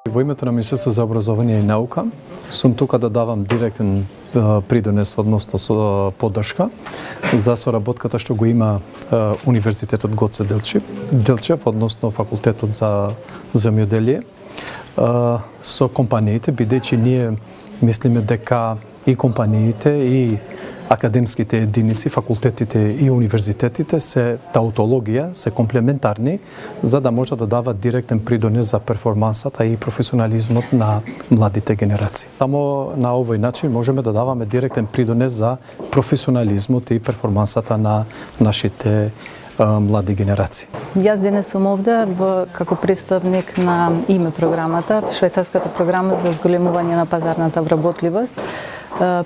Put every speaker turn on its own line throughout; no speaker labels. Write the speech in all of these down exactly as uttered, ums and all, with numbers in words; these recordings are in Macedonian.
Во името на Министерството за образование и наука сум тука да давам директен придонес, односно со поддршка за соработката што го има Универзитетот Гоце Делчев, Делчев, односно Факултетот за земјоделие со компаниите, бидејќи ние мислиме дека и компаниите и академските единици, факултетите и универзитетите се таутологија, се комплементарни за да може да дават директен придонес за перформансата и професионализмот на младите генерации. Само на овој начин можеме да даваме директен придонес за професионализмот и перформансата на нашите млади генерации.
Јас денес сум овде како представник на ИМЕ програмата, швајцарската програма за зголемување на пазарната вработливост.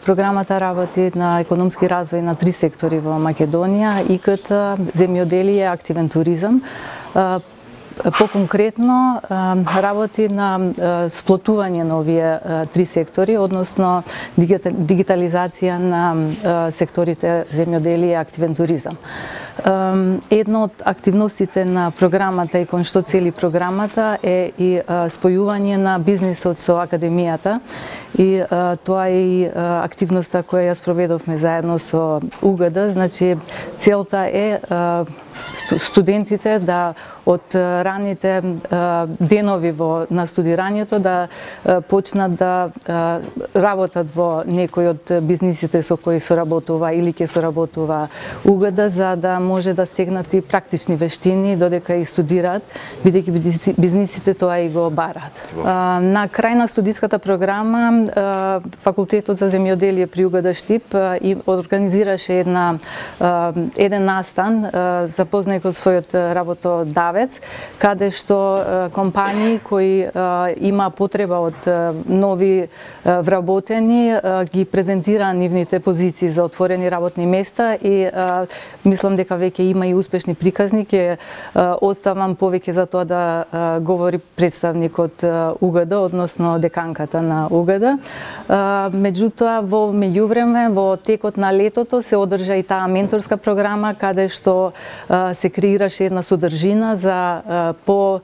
Програмата работи на економски развој на три сектори во Македонија: И К Т, земјоделие, активен туризам. Поконкретно работи на сплотување на овие три сектори, односно дигитализација на секторите земјоделие и активен туризам. Една од активностите на програмата и кон што цели програмата е и спојување на бизнисот со академијата, и тоа е и активноста која ја спроведовме заедно со У Г Д. Значи, целта е студентите да од раните денови во на студирањето да почнат да работат во некој од бизнисите со кои соработува или ќе соработува У Г Д, за да може да стегнат и практични вештини додека и студираат, бидејќи бизнисите тоа и го бараат. На крај на студиската програма Факултетот за земјоделие при У Г Д Штип и организираше една еден настан запознај од својот работодавец, каде што компании кои има потреба од нови вработени ги презентира нивните позиции за отворени работни места, и мислам дека веќе има и успешни приказни. Ќе оставам повеќе за тоа да говори представникот У Г Д, односно деканката на У Г Д. Меѓутоа, во меѓувреме, во текот на летото се одржа и таа менторска програма, каде што се креираше една содржина за по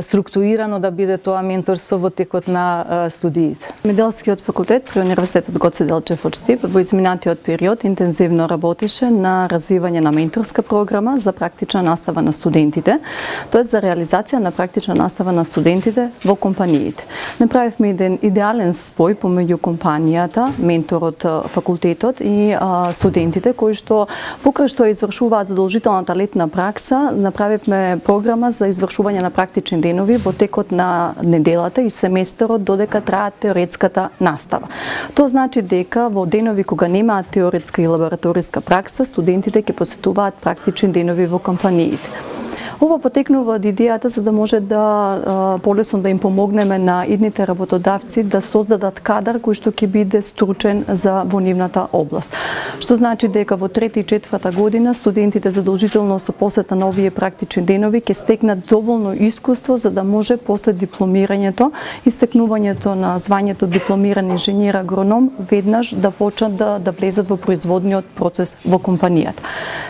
структурирано да биде тоа менторство во текот на студиите.
Земјоделскиот факултет при Универзитетот Гоце Делчев од Штип во изминатиот период интензивно работеше на развивање на менторска програма за практична настава на студентите, тоест за реализација на практична настава на студентите во компаниите. Направивме еден идеален спој помеѓу компанијата, менторот, факултетот и а, студентите, кои што покрај што извршуваат задолжителната летна пракса, направивме програма за извршување на практични денови во текот на неделата и семестерот додека траат теоретската настава. Тоа значи дека во денови кога немаат теоретска и лабораториска пракса, студентите ќе посетуваат практични денови во компаниите. Ова потекнува од идејата за да може да а, полесно да им помогнеме на идните работодавци да создадат кадар кој што ќе биде стручен за во нивната област. Што значи дека во трета и четврта година студентите задолжително со посета на овие практични денови ќе стекнат доволно искуство за да може после дипломирањето и стекнувањето на звањето дипломиран инженер агроном веднаш да почнат да, да влезат во производниот процес во компанијата.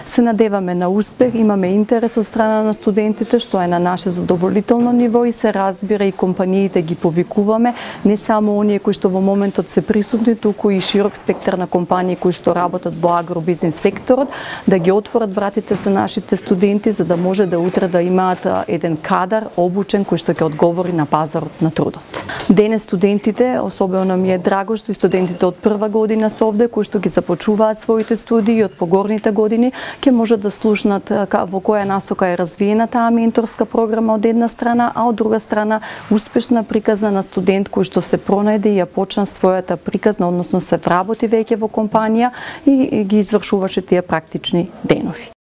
Се надеваме на успех, имаме интерес од страна на студентите, што е на наше задоволително ниво, и се разбира и компаниите ги повикуваме, не само оние кои што во моментот се присутни, туку и широк спектар на компании кои што работат во агробизнес секторот, да ги отворат вратите за нашите студенти, за да може да утре да имаат еден кадар обучен кој што ќе одговори на пазарот на трудот. Денес студентите, особено ми е драго што и студентите од прва година се овде, кои што ги започуваат своите студии од погорните години, ќе можат да слушнат во која насока е развиена таа менторска програма од една страна, а од друга страна успешна приказна на студент кој што се пронајде и ја почна својата приказна, односно се вработи веќе во компанија и ги извршуваше тие практични денови.